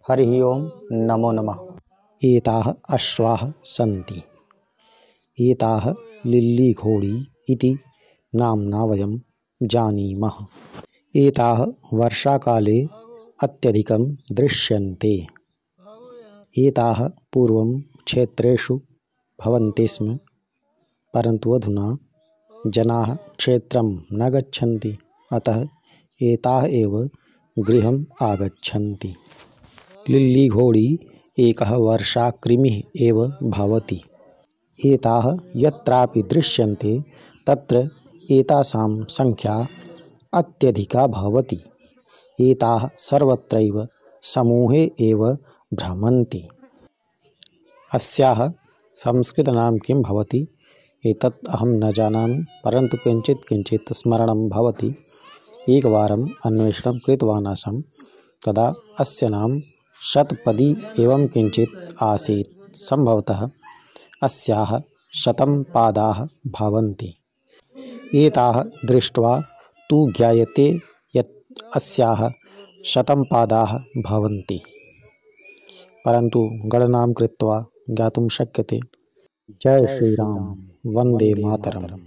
हरिः ओं नमो नमः। एताः अश्वाः सन्ति। एताः लिल्लीघोड़ी इति नाम्ना वयं जानीमः। एताः वर्षाकाले अत्यधिकं दृश्यन्ते। एताः पूर्वं क्षेत्रेषु भवन्ति स्म, परन्तु अधुना जनाः क्षेत्रं न गच्छन्ति, अतः एताः एव गृहम् आगच्छन्ति। लिल्लीघोड़ी एकः वर्षाकृमिः एव भवति। एताः यत्रापि दृश्यन्ते तत्र एतासां संख्या अत्यधिका भवति। एताः सर्वत्रैव समूहे एव भ्रमन्ति। अस्याः संस्कृतनाम किं भवति एतत् अहं न जानामि, परन्तु किञ्चित् स्मरणं भवति। एकवारम् अन्वेषणं कृतवान् आसं, तदा अस्य नाम शतपदी एवं किञ्चित् आसीत्। सम्भवतः अस्याः 100 पादाः भवन्ति। एताः दृष्ट्वा तु ज्ञायते यत् अस्याः 100 पादाः भवन्ति, परन्तु गणनां कृत्वा ज्ञातुं शक्यते। जय श्रीराम, वन्दे मातरम्।